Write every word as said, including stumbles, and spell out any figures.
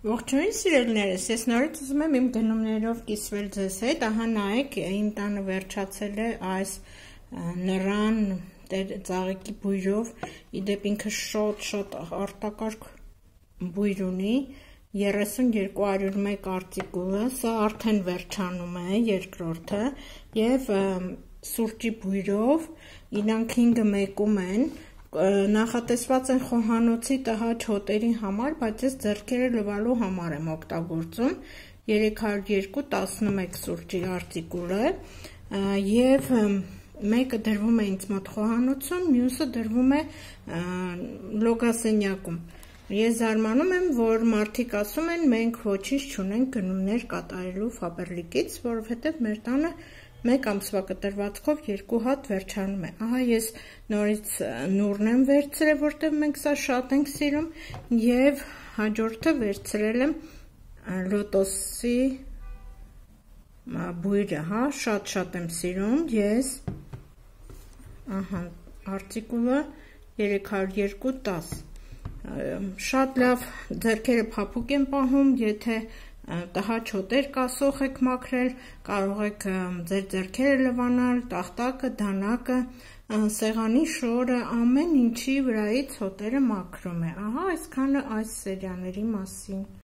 Ողջույն սիրելիներս, ես նորից ուզում եմ իմ գնումներով կիսվել ձեզ հետ, ահա նայեք, իմ տանը վերջացել է այս նռան ծաղիկի բույրով, իդեպ ինքը շատ-շատ արտակարգ բույր ունի, երեսուն երկու հարյուր մեկ արտիկուլը, սա արդեն վերջանում է, երկրորդը, և սուրճի բույրով, իրանք հինգը մեկում են, նախատեսված են խոհանոցի տհաճ հոտերի համար, բայց ես ձեռքերը լվալու համար եմ օգտագործում, երեք հարյուր երկու տասնմեկ սուրճի արտիկուլը, և մեկը դրվում է ինձ մոտ խոհանոցում, մյուսը դրվում է լոգասենյակում։ Ես զարմանում եմ, որ մարդիկ ասում են, մենք ոչինչ չունենք գնումներ կատարելու Ֆաբերլիկից, որովհետև մեր տանը մեկ ամսվա կտրվածքով երկու հատ վերջանում է։ Ահա ես նորից նուռն եմ վերցրել, որտեղ մենք սա շատ ենք սիրում, և հաջորդը վերցրել եմ լոտոսի բույրը, հա, շատ-շատ եմ սիրում ես, ահա, արտիկուլը երեք հարյուր երկու տասը, շատ լավ ձեռքերը փափուկ են պահում, եթե տհաճ հոտեր կասող եք մաքրել, կարող եք ձեր ձեռքերը լվանալ, տախտակը, դանակը, սեղանի շորը, ամեն ինչի վրայից հոտերը մաքրում է, ահա այսքանը այս սերիաների մասին։